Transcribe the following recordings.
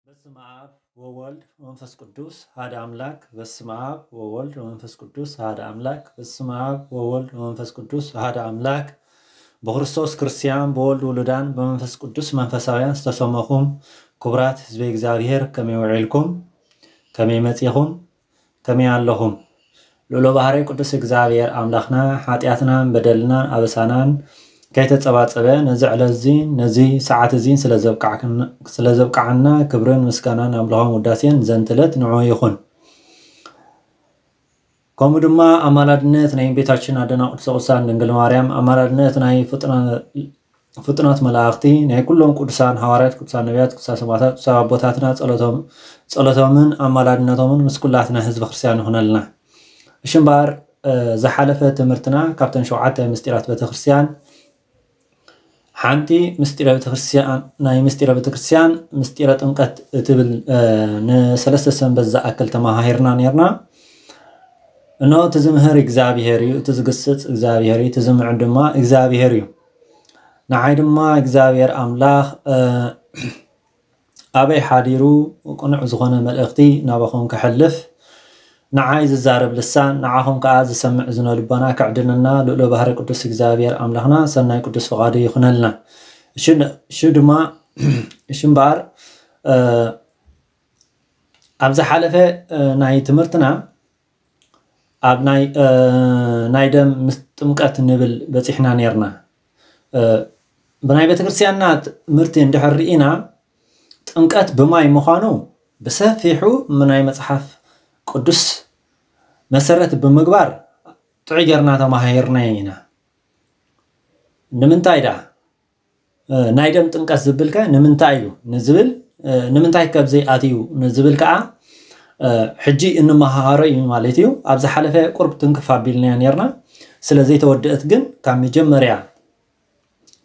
በስመ አብ ወወልድ ወመንፈስ ቅዱስ ሓደ አምላክ። በስመ አብ ወወልድ ወመንፈስ ቅዱስ ሓደ አምላክ። በስመ አብ ወወልድ ወመንፈስ ቅዱስ ሓደ አምላክ። ብክርስቶስ ክርስቲያን፣ ብወልድ ውሉዳን፣ ብመንፈስ ቅዱስ መንፈሳውያን ዝተሰመኹም ክቡራት ህዝበ እግዚኣብሔር፣ ከመይ ውዒልኩም? ከመይ መጺኹም? ከመይ ኣለኹም? ልዑለ ባህርይ ቅዱስ እግዚኣብሔር ኣምላኽና፣ ሓጢኣትናን በደልናን ኣበሳናን ከይተጸባጸበ፣ ነዚ ዕለት እዚ፣ ነዚ ሰዓት እዚ ስለ ዘብቃዕክና-፣ ስለ ዘብቃዓና፣ ክብርን ምስጋናን ኣምልኾን ውዳሴን ዘንትለት ንዑ ይኹን። ከምኡ ድማ ኣማላድነት ናይ እመቤታችን ኣደና ቅድስተ ቅዱሳን ድንግል ማርያም፣ ኣማላድነት ናይ ፍጥነ-፣ ፍጡናት መላእኽቲ፣ ናይ ኩሎም ቅዱሳን ሃዋርያት፣ ቅዱሳን ነቢያት፣ ቅዱሳን ሰማዕታት፣ ቅዱሳን ኣቦታትና ጸሎቶም-፣ ጸሎቶምን ኣማላድነቶምን ምስ ኩላትና ህዝበ ክርስቲያን ይኹነልና። እሺ እምበኣር፣ እ፣ ዝሓለፈ ትምህርትና ካብተን ሸውዓተ ምስጢራት ቤተክርስትያን ሓንቲ ምስጢረ ቤተክርስትያን፣ ናይ ምስጢረ ቤተክርስትያን ምስጢረ ጥምቀት እትብል፣ እ፣ ንሰለስተ ሰንበት ዝኣክል ተመሃሂርና ነርና። እነሆ እቲ ዝምህር እግዚኣብሔር እዩ፣ እቲ ዝግስጽ እግዚኣብሔር እዩ፣ እቲ ዝምዕድ ድማ እግዚኣብሔር እዩ። ንዓይ ድማ እግዚኣብሔር ኣምላኽ፣ እ፣ ኣበይ ሓዲሩ ቅኑዕ ዝኾነ መልእኽቲ ናባኹም ከሕልፍ፣ ንዓይ ዝዛረብ ልሳን፣ ንዓኹም ከኣ ዝሰምዕ እዝነ ልቦና ከዕድለና ልኡለ ባህሪ ቅዱስ እግዚኣብሔር ኣምላኽና ሰናይ ቅዱስ ፍቓዱ ይኹነልና። እሺ፣ እሺ ድማ፣ እሺ እምበኣር፣ እ፣ ኣብ ዝሓለፈ፣ እ፣ ናይ ትምህርትና ኣብ ናይ፣ እ፣ ናይ ደም ምስ ጥምቀት ንብል በጺሕና ነርና። እ፣ ብናይ ቤተክርስትያንና ትምህርቲ እንድሕር ርኢና፣ ጥምቀት ብማይ ምዃኑ ብሰፊሑ ናይ መጽሓፍ ቅዱስ መሰረት ብምግባር ጥዑይ ጌርና ተማሂርናዮ ኢና። ንምንታይ ደኣ? እ፣ ናይ ደም ጥምቀት ዝብል ከ ንምንታይ እዩ ንዝብል፣ እ፣ ንምንታይ ከብዚ ኣትዩ ንዝብል ከኣ፣ እ፣ ሕጂ እንመሃሃሮ እዩ ማለት እዩ። ኣብ ዝሓለፈ ቁርብ ትንክፍ ኣቢልናዮ ነርና። ስለ ዘይተወደአት ግን ካብ መጀመርያ፣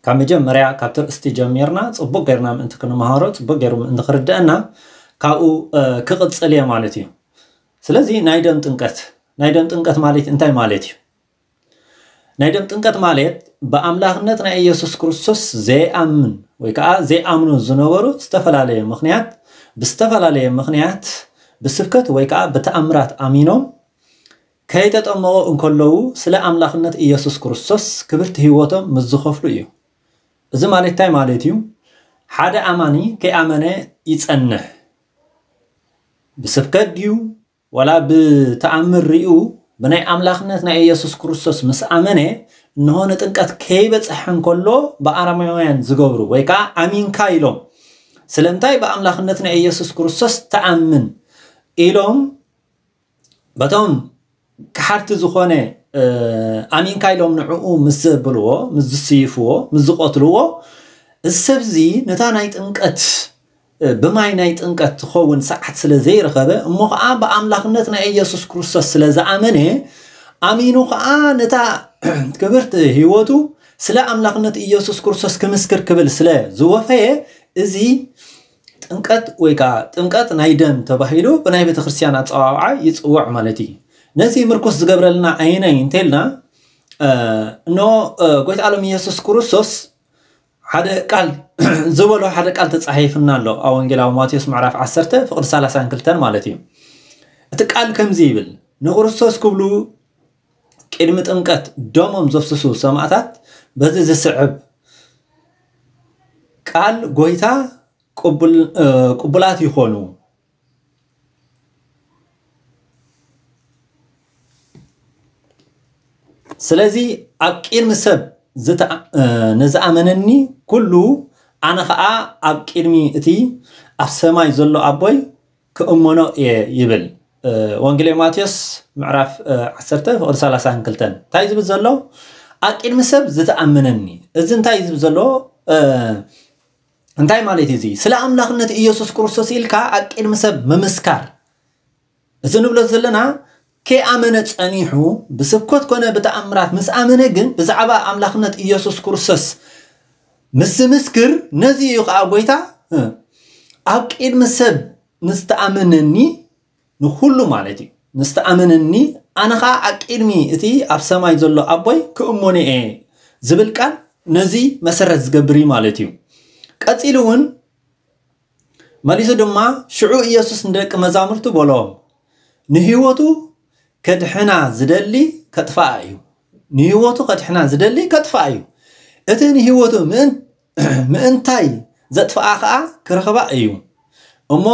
ካብ መጀመርያ ካብቲ ርእስቲ ጀሚርና ጽቡቅ ጌርና ምእንቲ ክንመሃሮ፣ ጽቡቅ ጌሩ ምእንቲ ክርድአና ካብኡ፣ እ፣ ክቕጽል እየ ማለት እዩ። ስለዚ ናይ ደም ጥምቀት፣ ናይ ደም ጥምቀት ማለት እንታይ ማለት እዩ? ናይ ደም ጥምቀት ማለት ብኣምላኽነት ናይ ኢየሱስ ክርስቶስ ዘይኣምን ወይ ከዓ ዘይኣምኑ ዝነበሩ ዝተፈላለየ ምኽንያት፣ ብዝተፈላለየ ምኽንያት ብስብከት ወይ ከዓ ብተኣምራት ኣሚኖም ከይተጠመቑ እንከለዉ ስለ ኣምላኽነት ኢየሱስ ክርስቶስ ክብርቲ ህይወቶም ምስ ዝኸፍሉ እዩ። እዚ ማለት እንታይ ማለት እዩ? ሓደ ኣማኒ ከይኣመነ ይጸንሕ። ብስብከት ድዩ? ዋላ ብተኣምር ሪኡ ብናይ ኣምላኽነት ናይ ኢየሱስ ክርስቶስ ምስ ኣመነ፣ እንሆ ንጥምቀት ከይበጽሐ እንከሎ ብኣረማውያን ዝገብሩ፣ ወይ ከዓ ኣሚንካ ኢሎም፣ ስለምንታይ ብኣምላኽነት ናይ ኢየሱስ ክርስቶስ ተኣምን ኢሎም በቶም ከሓድቲ ዝኾነ፣ እ፣ ኣሚንካ ኢሎም ንዕኡ ምስ ዘብልዎ፣ ምስ ዝስይፍዎ፣ ምስ ዝቐትልዎ፣ እዚ ሰብ እዚ ነታ ናይ ጥምቀት፣ እ፣ ብማይ ናይ ጥምቀት ትኸውን ሰዓት ስለ ዘይረኸበ፣ እሞ ኸዓ ብኣምላኽነት ናይ ኢየሱስ ክርስቶስ ስለ ዝኣመነ፣ ኣሚኑ ኸዓ ነታ ክብርቲ ህይወቱ ስለ ኣምላኽነት ኢየሱስ ክርስቶስ ክምስክር ክብል ስለ ዝወፈየ፣ እዚ ጥምቀት ወይ ከዓ ጥምቀት ናይ ደም ተባሂሉ ብናይ ቤተክርስትያን ኣጸዋውዓ ይጽዋዕ ማለት እዩ። ነዚ ምርኩስ ዝገብረልና ኣየናይ እንተልና፣ እ፣ እነሆ፣ እ፣ ጎይታ ዓለም ኢየሱስ ክርስቶስ ሓደ ቃል ዝበሎ ሓደ ቃል ተጻሒፍና ኣሎ። ኣብ ወንጌላዊ ማቴዎስ ምዕራፍ ዓሰርተ ፍቕዲ ሰላሳን ክልተን ማለት እዩ። እቲ ቃል ከምዚ ይብል፣ ንክርስቶስ ክብሉ ቅድሚ ጥምቀት ደሞም ዘፍስሱ ሰማዕታት በዚ ዝስዕብ ቃል ጎይታ ቅቡል-፣ እ፣ ቅቡላት ይኾኑ። ስለዚ ኣብ ቅድሚ ሰብ ዝተኣ-፣ እ፣ ንዝኣመነኒ ኩሉ ኣነ ኸኣ ኣብ ቅድሚ እቲ ኣብ ሰማይ ዘሎ ኣቦይ ክእመኖ እየ ይብል። እ፣ ወንጌል ማቴዎስ ምዕራፍ፣ እ፣ ዓሰርተ ፍቕዲ ሰላሳን ክልተን። እንታይ ዝብል ዘሎ? ኣብ ቅድሚ ሰብ ዝተኣመነኒ። እዚ እንታይ ዝብል ዘሎ? እ፣ እንታይ ማለት እዩ እዚ? ስለ ኣምላኽነት ኢየሱስ ክርስቶስ ኢልካ ኣብ ቅድሚ ሰብ ምምስካር። እዚ ንብሎ ዘለና ከይኣመነ ጸኒሑ ብስብከት ኮነ ብተኣምራት ምስ ኣመነ ግን ብዛዕባ ኣምላኽነት ኢየሱስ ክርስቶስ ምስ ምስክር ነዚ እዩ ከዓ ጎይታ ኣብ ቅድሚ ሰብ ንዝተኣመነኒ ንኩሉ ማለት እዩ ንዝተኣመነኒ ኣነ ከዓ ኣብ ቅድሚ እቲ ኣብ ሰማይ ዘሎ ኣቦይ ክእመኖ እየ ዝብል ቃል ነዚ መሰረት ዝገብር እዩ ማለት እዩ። ቀፂሉ እውን መሊሱ ድማ ሽዑ ኢየሱስ ንደቂ መዛሙርቱ በሎም፣ ንህይወቱ ከድሕና ዝደሊ ከጥፍኣ እዩ። ንህይወቱ ከድሕና ዝደሊ ከጥፍኣ እዩ። እቲ ንህይወቱ ምእንታይ ዘጥፍኣ ከዓ ክረኽባ እዩ። እሞ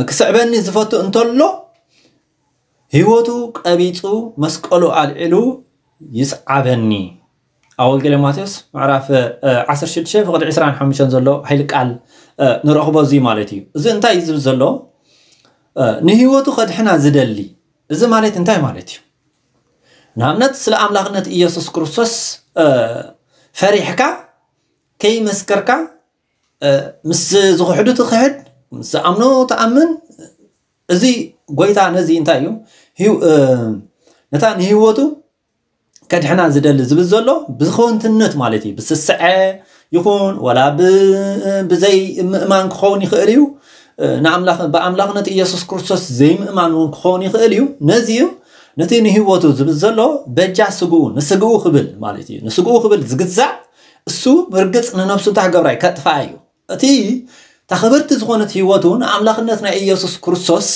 ክስዕበኒ ዝፈቱ እንተሎ ህይወቱ ቀቢፁ መስቀሉ ኣልዒሉ ይስዓበኒ። ኣብ ወንጌል ማቴዎስ ምዕራፍ ዓሰርተ ሽዱሽተ ፍቕዲ ዕስራን ሓሙሽተን ዘሎ ሓይሊ ቃል ንረኽቦ እዚ ማለት እዩ። እዚ እንታይ እዩ ዝብል ዘሎ? ንህይወቱ ከድሕና ዝደሊ። እዚ ማለት እንታይ ማለት እዩ? ንኣብነት ስለ ኣምላኽነት ኢየሱስ ክርስቶስ ፈሪሕካ ከይመስከርካ ምስ ዝኽሕዱ ትኽሕድ፣ ምስ ዝኣምኖ ትኣምን። እዚ ጎይታ ነዚ እንታይ እዩ ነታ ንህይወቱ ከድሕና ዝደሊ ዝብል ዘሎ ብዝኸወንትነት ማለት እዩ። ብስስዐ ይኹን ወላ ብዘይ ምእማን ክኸውን ይኽእል እዩ። ንኣምላኽ ብኣምላኽነት ኢየሱስ ክርስቶስ ዘይምእማን እውን ክኸውን ይኽእል እዩ። ነዚ እዩ ነቲ ንህይወቱ ዝብል ዘሎ በጃ ስግኡ ንስግኡ ክብል ማለት እዩ። ንስግኡ ክብል ዝግዛእ እሱ ብርግጽ ንነብሱ እንታይ ክገብራ እዩ? ከጥፍኣ እዩ። እቲ እታ ክብርቲ ዝኾነት ህይወቱ ንኣምላኽነት ናይ ኢየሱስ ክርስቶስ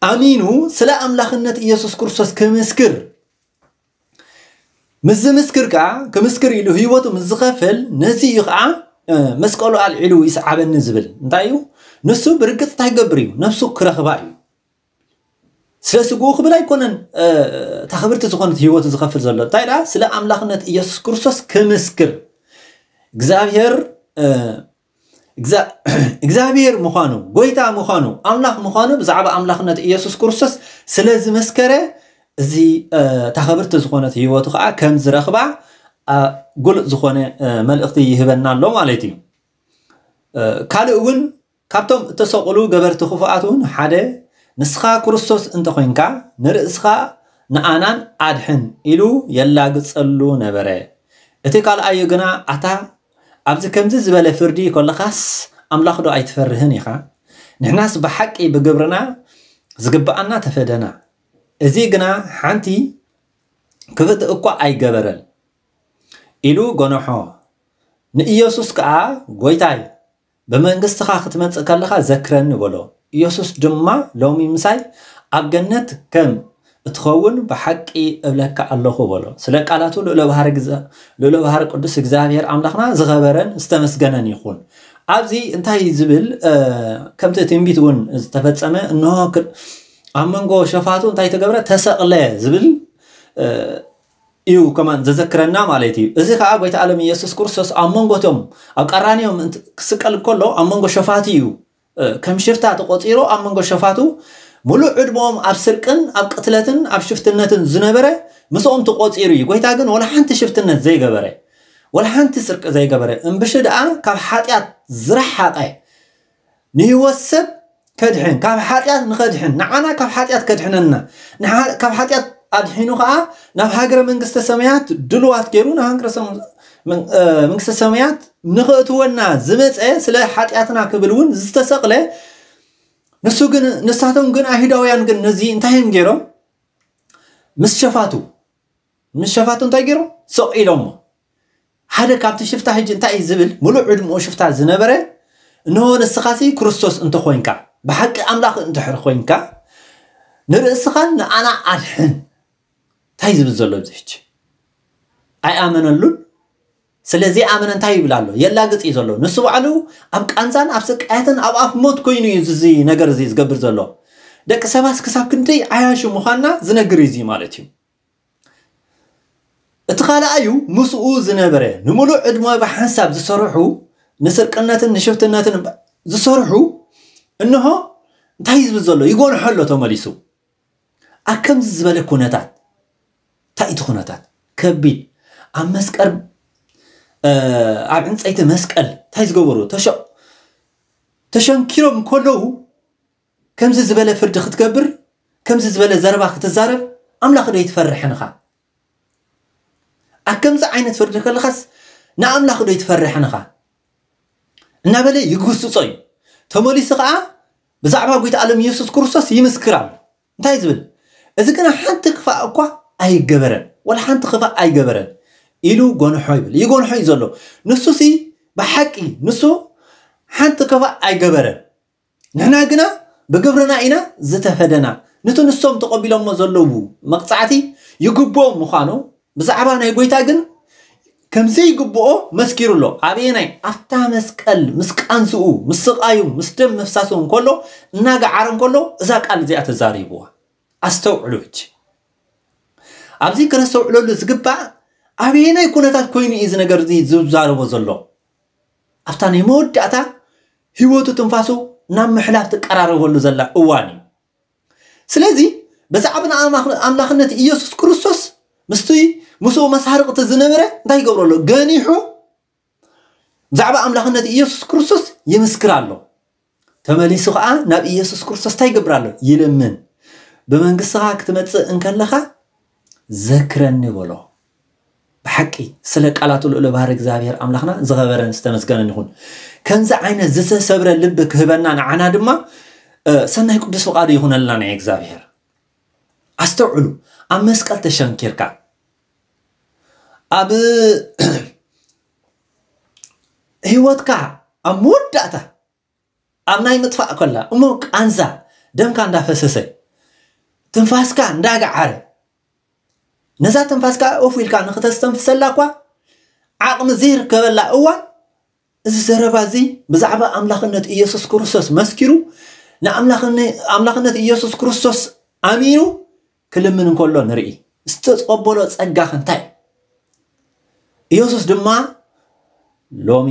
ኣሚኑ ስለ ኣምላኽነት ኢየሱስ ክርስቶስ ክምስክር ምስ ዝምስክር ከዓ ክምስክር ኢሉ ህይወቱ ምስ ዝኸፍል ነዚ እዩ ከዓ መስቀሉ ኣልዒሉ ይስዓበኒ ዝብል እንታይ እዩ? ንሱ ብርግፅ እንታይ ክገብር እዩ? ነብሱ ክረኽባ እዩ። ስለ ስግኡ ክብል ኣይኮነን እታ ክብርቲ ዝኾነት ህይወቱ ዝኸፍል ዘሎ እንታይ ደኣ ስለ ኣምላኽነት ኢየሱስ ክርስቶስ ክምስክር እግዚኣብሔር እግዚኣብሔር ምዃኑ ጎይታ ምዃኑ ኣምላኽ ምዃኑ ብዛዕባ ኣምላኽነት ኢየሱስ ክርስቶስ ስለ ዝመስከረ እዚ እታ ክብርቲ ዝኾነት ህይወቱ ከዓ ከም ዝረኽባ ጉልእ ዝኾነ መልእኽቲ ይህበና ኣሎ ማለት እዩ። ካልእ እውን ካብቶም እተሰቕሉ ገበርቲ ክፉኣት እውን ሓደ ንስኻ ክርስቶስ እንተኾይንካ ንርእስኻ ንኣናን ኣድሕን ኢሉ የላግጸሉ ነበረ። እቲ ካልኣዩ ግና ኣታ ኣብዚ ከምዚ ዝበለ ፍርዲ ከለኻስ ኣምላኽ ዶ ኣይትፈርህን ኢኻ? ንሕናስ ብሓቂ ብግብርና ዝግብኣና ተፈደና። እዚ ግና ሓንቲ ክፍእቲ እኳ ኣይገበረን ኢሉ ገነሖ። ንኢየሱስ ከኣ ጎይታይ ብመንግስትኻ ክትመጽእ ከለኻ ዘክረኒ በሎ። ኢየሱስ ድማ ሎሚ ምሳይ ኣብ ገነት ከም እትኸውን ብሓቂ እብለካ ኣለኹ በሎ። ስለ ቃላቱ ልዑለ ባህሪ ቅዱስ እግዚኣብሔር ኣምላኽና ዝኸበረን ዝተመስገነን ይኹን። ኣብዚ እንታይ ዝብል ከምቲ ትንቢት እውን ዝተፈጸመ እንሆ ኣብ መንጎ ሸፋቱ እንታይ ተገብረ ተሰቕለ ዝብል እዩ ከማን ዘዘክረና ማለት እዩ። እዚ ከዓ ጎይታ ዓለም ኢየሱስ ክርስቶስ ኣብ መንጎቶም ኣብ ቀራንዮም ክስቀል ከሎ ኣብ መንጎ ሸፋቱ እዩ ከም ሽፍታ ተቆፂሩ ኣብ መንጎ ሸፋቱ ሙሉእ ዕድመኦም ኣብ ስርቅን ኣብ ቅትለትን ኣብ ሽፍትነትን ዝነበረ ምስኦም ተቆፂሩ እዩ። ጎይታ ግን ወላ ሓንቲ ሽፍትነት ዘይገበረ ወላ ሓንቲ ስርቂ ዘይገበረ እምብሺ ደኣ ካብ ሓጢኣት ዝረሓቀ ንህይወት ሰብ ከድሕን ካብ ሓጢኣት ንኸድሕን ንዓና ካብ ሓጢኣት ከድሕነና ካብ ሓጢኣት ኣድሒኑ ከዓ ናብ ሃገረ መንግስተ ሰማያት ድልዋት ገይሩ ናብ ሃገረ መንግስተ ሰማያት ንኽእትወና ዝመፀ ስለ ሓጢኣትና ክብል እውን ዝተሰቕለ ንሱ ግን ንሳቶም ግን ኣይሁዳውያን ግን ነዚ እንታይ እዮም ገይሮም ምስ ሸፋቱ ምስ ሸፋቱ እንታይ ገይሮም ሰቕ ኢሎሞ ሓደ ካብቲ ሽፍታ ሕጂ እንታይ እዩ ዝብል ሙሉእ ዕድምኡ ሽፍታ ዝነበረ እንሆ ንስኻሲ ክርስቶስ እንተኾይንካ ብሓቂ ኣምላኽ እንድሕር ኮይንካ ንርእስኻን ንኣና ኣድሕን እንታይ ዝብል ዘሎ እዚ ሕጂ ኣይኣመነሉን ስለዚ ኣመነ እንታይ ይብል ኣሎ የላግጽ እዩ ዘሎ ንሱ ባዕሉ ኣብ ቃንዛን ኣብ ስቃያትን ኣብ ኣፍ ሞት ኮይኑ እዩ እዚ ነገር እዚ ዝገብር ዘሎ ደቂ ሰባት ክሳብ ክንደይ ዓያሹ ምዃንና ዝነግር እዩ ማለት እዩ እቲ ካልኣዩ ምስኡ ዝነበረ ንምሉእ ዕድመ ብሓንሳብ ዝሰርሑ ንስርቅነትን ንሽፍትነትን ዝሰርሑ እንሆ እንታይ ዝብል ዘሎ ይጎንሖ ኣሎ ተመሊሱ ኣብ ከምዚ ዝበለ ኩነታት እንታይ እቲ ኩነታት ከቢድ ኣብ መስቀል ኣብ ዕንፀይቲ መስቀል እንታይ ዝገበሩ ተሸንኪሮም ከለዉ ከምዚ ዝበለ ፍርዲ ክትገብር ከምዚ ዝበለ ዘረባ ክትዛረብ ኣምላኽ ዶ ይትፈርሕን ኢኻ ኣብ ከምዚ ዓይነት ፍርዲ ከለኻስ ንኣምላኽ ዶ ይትፈርሕን ኢኻ? እናበለ ይግስጾ እዩ። ተመሊሱ ኸዓ ብዛዕባ ጎይታ ዓለም ኢየሱስ ክርስቶስ ይምስክር ኣሎ። እንታይ ዝብል? እዚ ግና ሓንቲ ክፋእ እኳ ኣይገበረን፣ ወላ ሓንቲ ክፋእ ኣይገበረን ኢሉ ጎንሖ ይብል። ይጎንሖ እዩ ዘሎ። ንሱሲ ብሓቂ ንሱ ሓንቲ ክፋእ ኣይገበረን። ንሕና ግና ብግብርና ኢና ዝተፈደና። ነቲ ንሶም ተቐቢሎሞ ዘለዉ መቕጻዕቲ ይግብኦም ምዃኑ ብዛዕባ ናይ ጎይታ ግን ከም ዘይግብኦ መስኪሩ ኣሎ። ኣበየናይ? ኣብታ መስቀል ምስ ቃንዝኡ፣ ምስ ስቓዩ፣ ምስ ደም ምፍሳሱ እንከሎ፣ እናገዓረ እንከሎ እዛ ቃል እዚኣ ተዛሪብዋ። ኣስተውዕሉ ሕጂ። ኣብዚ ክነስተውዕለሉ ዝግባእ ኣበየናይ ኩነታት ኮይኑ እዩ እዚ ነገር እዚ ዝዛረቦ ዘሎ? ኣብታ ናይ መወዳእታ ህይወቱ ትንፋሱ ናብ ምሕላፍ ትቀራረበሉ ዘላ እዋን እዩ። ስለዚ ብዛዕባ ንኣምላኽ-፣ ኣምላኽነት ኢየሱስ ክርስቶስ ምስቲ ምስኡ መሳርቕቲ ዝነበረ እንታይ ይገብሮ ኣሎ? ገኒሑ ብዛዕባ ኣምላኽነት ኢየሱስ ክርስቶስ ይምስክር ኣሎ። ተመሊሱ ኸዓ ናብ ኢየሱስ ክርስቶስ እንታይ ይገብር ኣሎ? ይልምን። "ብመንግስትኻ ክትመጽእ እንከለኻ ዘክረኒ" በሎ። ብሓቂ ስለ ቃላቱ ልዑል ባህሪ እግዚኣብሔር ኣምላኽና ዝኸበረን ዝተመስገነን ይኹን። ከምዚ ዓይነት ዝተሰብረ ልቢ ክህበና ንዓና ድማ፣ እ፣ ሰናይ ቅዱስ ፍቓዱ ይኹነልና ናይ እግዚኣብሔር። ኣስተውዕሉ፣ ኣብ መስቀል ተሸንኪርካ፣ ኣብ ህይወትካ ኣብ መወዳእታ ኣብ ናይ ምጥፋእ ከላ እሞ ቃንዛ ደምካ እንዳፈሰሰ ትንፋስካ እንዳገዓረ ነዛ ትንፋስካ ኦፍ ኢልካ ንክተስተንፍሰላ እኳ ዓቕሚ ዘይርከበላ እዋን እዚ ዘረባ እዚ ብዛዕባ ኣምላኽነት ኢየሱስ ክርስቶስ መስኪሩ ንኣምላኽነ-፣ ኣምላኽነት ኢየሱስ ክርስቶስ ኣሚኑ ክልምን እንከሎ ንርኢ። ዝተቐበሎ ጸጋ ከ እንታይ? ኢየሱስ ድማ ሎሚ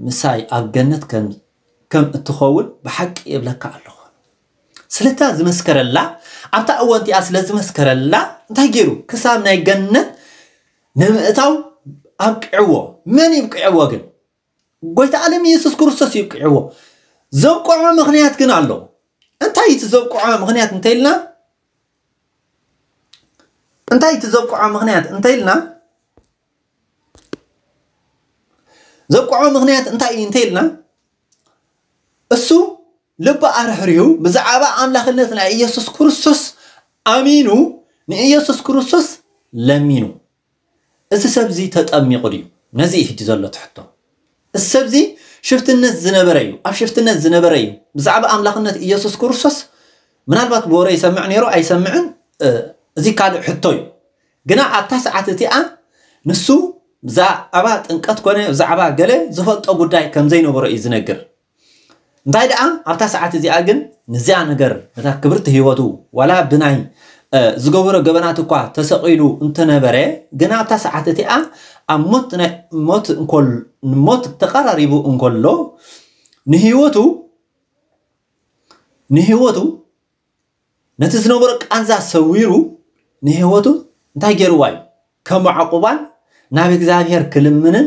ምሳይ ኣብ ገነት ከም፣ ከም እትኸውን ብሓቂ እብለካ ኣለኹ። ስለታ ዝመስከረላ፣ ኣብታ እወንቲኣ ስለ ዝመስከረላ እንታይ ገይሩ? ክሳብ ናይ ገነት ንምእታው ኣብቅዕዎ። መን ይብቅዕዎ ግን? ጎይታ ዓለም ኢየሱስ ክርስቶስ ይብቅዕዎ። ዘብቅዖ ምኽንያት ግን ኣሎ። እንታይ እቲ ዘብቅዖ ምኽንያት እንተኢልና? እንታይ እቲ ዘብቅዖ ምኽንያት እንተኢልና? ዘብቅዖ ምኽንያት እንታይ እዩ እንተኢልና? እሱ ልቢ ኣርህሪሁ ብዛዕባ ኣምላኽነት ናይ ኢየሱስ ክርስቶስ ኣሚኑ ንኢየሱስ ክርስቶስ ለሚኑ። እዚ ሰብ እዚ ተጠሚቑ ድዩ? ነዚ እዩ ሕጂ ዘሎ ትሕቶ። እዚ ሰብ እዚ ሽፍትነት ዝነበረ እዩ፣ ኣብ ሽፍትነት ዝነበረ እዩ። ብዛዕባ ኣምላኽነት ኢየሱስ ክርስቶስ ምናልባት ብወረ ይሰምዕ ነይሩ ኣይሰምዕን፣ እ፣ እዚ ካልእ ሕቶ እዩ። ግና ኣብታ ሰዓት እቲኣ ንሱ ብዛዕባ ጥምቀት ኮነ ብዛዕባ ገለ ዝፈልጦ ጉዳይ ከም ዘይነበሮ እዩ ዝነግር። እንታይ ደኣ ኣብታ ሰዓት እዚኣ ግን ነዚኣ ነገር ነታ ክብርቲ ህይወቱ ዋላ ብናይ፣ እ፣ ዝገበሮ ገበናት እኳ ተሰቒሉ እንተነበረ፣ ግና ኣብታ ሰዓት እቲኣ ኣብ ሞት ናይ፣ ሞት እንኮል-፣ ሞት ተቐራሪቡ እንከሎ ንህይወቱ፣ ንህይወቱ ነቲ ዝነበሮ ቃንዛ ሰዊሩ ንህይወቱ እንታይ ገይርዋ እዩ? ከም ዕቑባን ናብ እግዚኣብሔር ክልምንን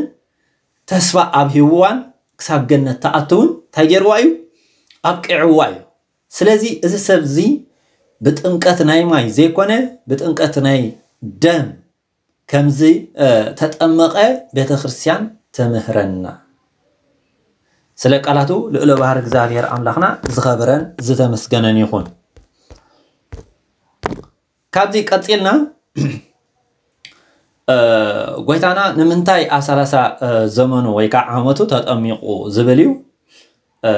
ተስፋ ኣብሂብዋን ክሳብ ገነት ትኣትውን እንታይ ገይርዋ እዩ? ኣብቂዕዋ እዩ። ስለዚ እዚ ሰብ እዚ ብጥምቀት ናይ ማይ ዘይኮነ ብጥምቀት ናይ ደም ከምዚ፣ እ፣ ተጠመቐ ቤተ ክርስቲያን ትምህረና። ስለ ቃላቱ ልዑለ ባህር እግዚኣብሔር ኣምላኽና ዝኸበረን ዝተመስገነን ይኹን። ካብዚ ቀጺልና፣ እ፣ ጎይታና ንምንታይ ኣብ ሰላሳ፣ እ፣ ዘመኑ ወይ ከዓ ዓመቱ ተጠሚቑ ዝብል እዩ። እ፣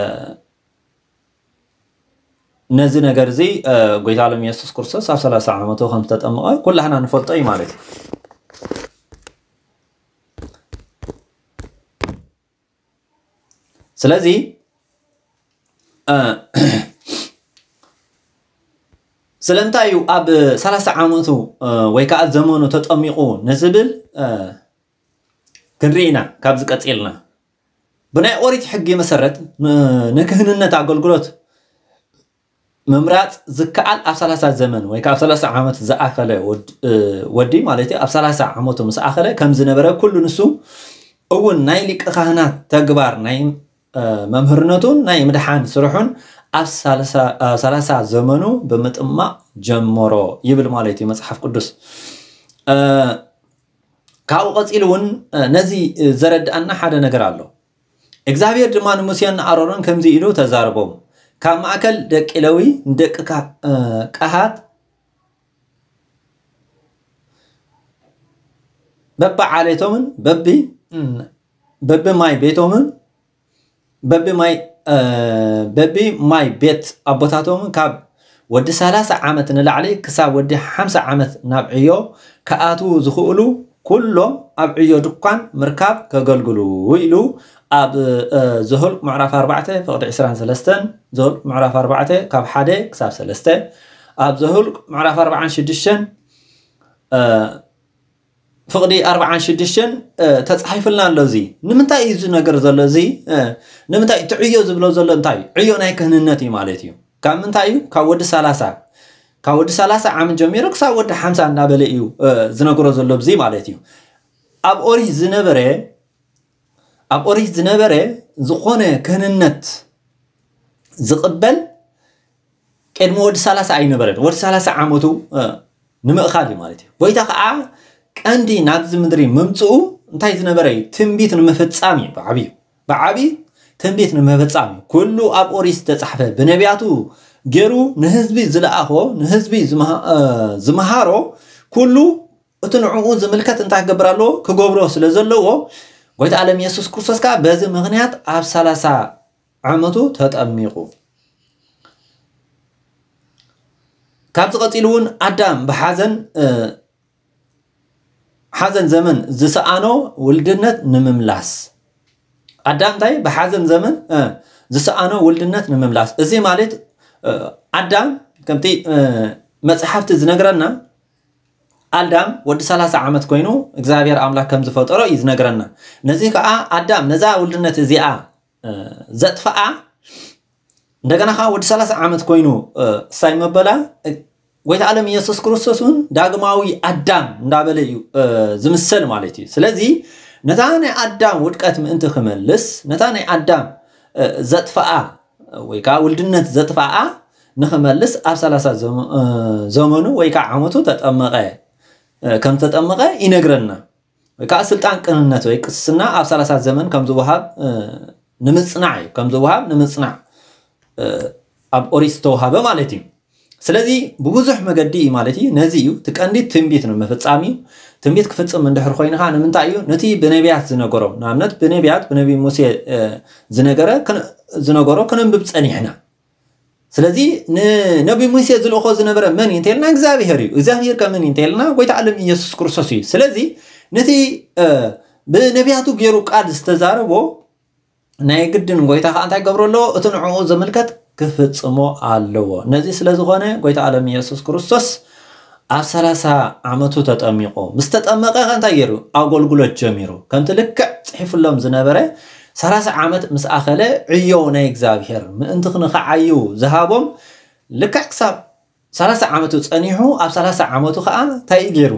ነዚ ነገር እዚ፣ እ፣ ጎይታ ሎም ኢየሱስ ክርስቶስ ኣብ ሰላሳ ዓመቱ ከም ዝተጠመቐ ኩላህና ንፈልጦ እዩ ማለት እዩ። ስለዚ፣ እ፣ ስለምንታይ እዩ ኣብ ሰላሳ ዓመቱ፣ እ፣ ወይ ከዓ ዘመኑ ተጠሚቑ ንዝብል፣ እ፣ ክንርኢ ኢና ካብዚ ቀጺልና። ብናይ ኦሪት ሕጊ መሰረት ን-፣ ንክህንነት ኣገልግሎት ምምራጽ ዝከኣል ኣብ ሰላሳ ዘመን ወይ ከዓ ኣብ ሰላሳ ዓመት ዝኣኸለ ወድ-፣ እ፣ ወዲ ማለት እዩ። ኣብ ሰላሳ ዓመቱ ምስ ኣኸለ ከም ዝነበረ ኩሉ ንሱ እውን ናይ ሊቀ ካህናት ተግባር ናይ፣ እ፣ መምህርነቱን ናይ ምድሓን ስርሑን ኣብ ሰላሳ፣ እ፣ ሰላሳ ዘመኑ ብምጥማቕ ጀመሮ ይብል ማለት እዩ መጽሓፍ ቅዱስ። እ፣ ካብኡ ቀጺሉ እውን ነዚ ዘረድኣና ሓደ ነገር ኣሎ። እግዚኣብሔር ድማ ንሙሴን ንኣሮንን ከምዚ ኢሉ ተዛረቦም፣ ካብ ማእከል ደቂ ለዊ ንደቂ ቀሃት በቢ ዓሌቶምን በቢ በቢ ማይ ቤቶምን በቢ ማይ በቢ ማይ ቤት ኣቦታቶምን ካብ ወዲ ሰላሳ ዓመት ንላዕሊ ክሳብ ወዲ ሓምሳ ዓመት ናብ ዕዮ ክኣትዉ ዝኽእሉ ኩሎም ኣብ ዕዮ ድኳን ምርካብ ከገልግሉ ኢሉ ኣብ ዘሁልቅ ምዕራፍ ኣርባዕተ ፍቕዲ ዕስራን ሰለስተን፣ ዘሁልቅ ምዕራፍ ኣርባዕተ ካብ ሓደ ክሳብ ሰለስተ፣ ኣብ ዘሁልቅ ምዕራፍ ኣርባዓን ሽዱሽተን ፍቕዲ ኣርባዓን ሽዱሽተን ተጻሒፉልና ኣሎ። እዚ ንምንታይ እዩ እዚ ነገር ዘሎ? እዚ ንምንታይ እቲ ዕዮ ዝብሎ ዘሎ እንታይ እዩ? ዕዮ ናይ ክህንነት እዩ ማለት እዩ። ካብ ምንታይ እዩ? ካብ ወዲ ሰላሳ፣ ካብ ወዲ ሰላሳ ዓመት ጀሚሩ ክሳብ ወዲ ሓምሳ እናበለ እዩ ዝነግሮ ዘሎ እዚ ማለት እዩ። ኣብ ኦሪት ዝነበረ ኣብ ኦሪት ዝነበረ ዝኾነ ክህንነት ዝቕበል ቅድሚ ወዲ ሰላሳ ኣይነበረን። ወዲ ሰላሳ ዓመቱ ንምእኻል እዩ ማለት እዩ። ጎይታ ከዓ ቀንዲ ናብዚ ምድሪ ምምፅኡ እንታይ ዝነበረ እዩ? ትንቢት ንምፍፃም እዩ። ብዓብዩ ብዓብዩ ትንቢት ንምፍፃም እዩ። ኩሉ ኣብ ኦሪት ዝተፃሕፈ ብነቢያቱ ገይሩ ንህዝቢ ዝለኣኾ ንህዝቢ ዝመሃሮ ኩሉ እቲ ንዕኡ ዝምልከት እንታይ ክገብር ኣለዎ? ክገብሮ ስለ ዘለዎ ጎይታ ዓለም የሱስ ክርስቶስ ከዓ በዚ ምኽንያት ኣብ ሰላሳ ዓመቱ ተጠሚቑ። ካብዚ ቀፂሉ እውን ኣዳም ብሓዘን ሓዘን ዘመን ዝሰኣኖ ውልድነት ንምምላስ ኣዳም እንታይ ብሓዘን ዘመን ዝሰኣኖ ውልድነት ንምምላስ። እዚ ማለት ኣዳም ከምቲ መፅሓፍቲ ዝነግረና ኣዳም ወዲ ሰላሳ ዓመት ኮይኑ እግዚኣብሔር ኣምላክ ከም ዝፈጠሮ እዩ ዝነግረና። ነዚ ከዓ ኣዳም ነዛ ውልድነት እዚኣ ዘጥፈኣ እንደገና ከዓ ወዲ ሰላሳ ዓመት ኮይኑ ሳይ መበላ ጎይታ ዓለም ኢየሱስ ክርስቶስ እውን ዳግማዊ ኣዳም እንዳበለ እዩ ዝምሰል ማለት እዩ። ስለዚ ነታ ናይ ኣዳም ውድቀት ምእንቲ ክመልስ ነታ ናይ ኣዳም ዘጥፈኣ ወይ ከዓ ውልድነት ዘጥፈኣ ንኽመልስ ኣብ ሰላሳ ዘመኑ ወይ ከዓ ዓመቱ ተጠመቐ ከም ተጠመቐ ይነግረና። ወይ ከዓ ስልጣን ቅንነት ወይ ቅስና ኣብ ሰላሳ ዘመን ከም ዝወሃብ ንምፅናዕ እዩ። ከም ዝወሃብ ንምፅናዕ ኣብ ኦሪት ዝተወሃበ ማለት እዩ። ስለዚ ብብዙሕ መገዲ እዩ ማለት እዩ። ነዚ እዩ እቲ ቀንዲ ትንቢት ንምፍፃም እዩ። ትንቢት ክፍፅም እንድሕር ኮይኑ ከዓ ንምንታይ እዩ? ነቲ ብነቢያት ዝነገሮም ንኣብነት ብነቢያት ብነቢ ሙሴ ዝነገረ ዝነገሮ ከነንብብ ፀኒሕና። ስለዚ ንነቢ ሙሴ ዝልእኾ ዝነበረ መን እዩ እንተልና እግዚኣብሄር እዩ። እግዚኣብሄር ከመን እዩ እንተልና ጎይታ ዓለም ኢየሱስ ክርስቶስ እዩ። ስለዚ ነቲ ብነቢያቱ ገይሩ ቃል ዝተዛረቦ ናይ ግድን ጎይታ ከዓ እንታይ ገብሮ ኣለዎ? እቲ ንዕኡ ዝምልከት ክፍጽሞ ኣለዎ። ነዚ ስለ ዝኾነ ጎይታ ዓለም ኢየሱስ ክርስቶስ ኣብ ሰላሳ ዓመቱ ተጠሚቑ ምስ ተጠመቐ ከ እንታይ ገይሩ? ኣገልግሎት ጀሚሩ። ከምቲ ልክዕ ጽሒፉሎም ዝነበረ ሰላሳ ዓመት ምስ ኣኸለ ዕዮ ናይ እግዚኣብሔር ምእንቲ ክንኸዓዩ ዝሃቦም ልክዕ ክሳብ ሰላሳ ዓመቱ ጸኒሑ ኣብ ሰላሳ ዓመቱ ከዓ እንታይ እዩ ገይሩ?